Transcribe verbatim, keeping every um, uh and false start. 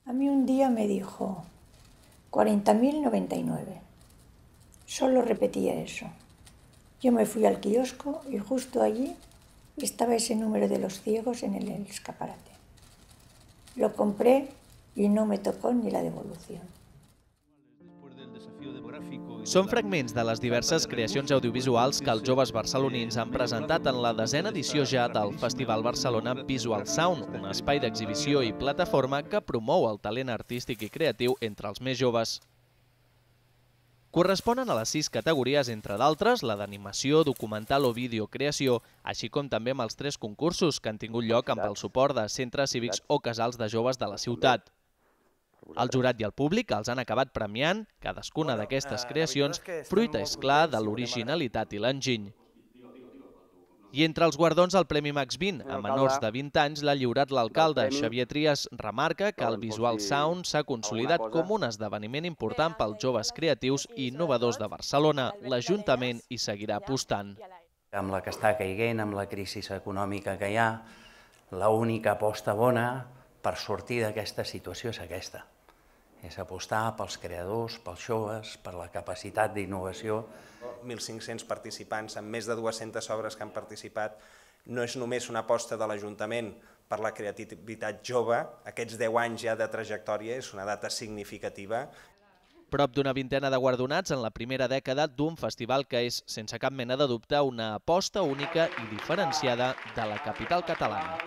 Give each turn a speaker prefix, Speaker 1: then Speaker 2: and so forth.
Speaker 1: A mí un día me dijo cuarenta mil noventa y nueve. Solo repetía eso. Yo me fui al kiosco y justo allí estaba ese número de los ciegos en el escaparate. Lo compré y no me tocó ni la devolución.
Speaker 2: Són fragments de les diverses creacions audiovisuals que els joves barcelonins han presentat en la desena edició ja del Festival Barcelona Visual Sound, un espai d'exhibició i plataforma que promou el talent artístic i creatiu entre els més joves. Corresponen a les sis categories, entre d'altres, la d'animació, documental o videocreació, així com també amb els tres concursos que han tingut lloc amb el suport de centres cívics o casals de joves de la ciutat. El jurat i el públic els han acabat premiant, cadascuna d'aquestes creacions, fruita, és clar, de l'originalitat i l'enginy. I entre els guardons el Premi Max vint, a menors de vint anys, l'ha lliurat l'alcalde. Xavier Trias remarca que el Visual Sound s'ha consolidat com un esdeveniment important pels joves creatius i innovadors de Barcelona. L'Ajuntament hi seguirà apostant.
Speaker 3: Amb la que està caiguent, amb la crisi econòmica que hi ha, l'única aposta bona per sortir d'aquesta situació és aquesta. És apostar pels creadors, pels joves, per la capacitat d'innovació.
Speaker 4: mil cinc-cents participants amb més de dues-centes obres que han participat. No és només una aposta de l'Ajuntament per la creativitat jove, aquests deu anys ja de trajectòria és una data significativa.
Speaker 2: Prop d'una vintena de guardonats en la primera dècada d'un festival que és, sense cap mena de dubte, una aposta única i diferenciada de la capital catalana.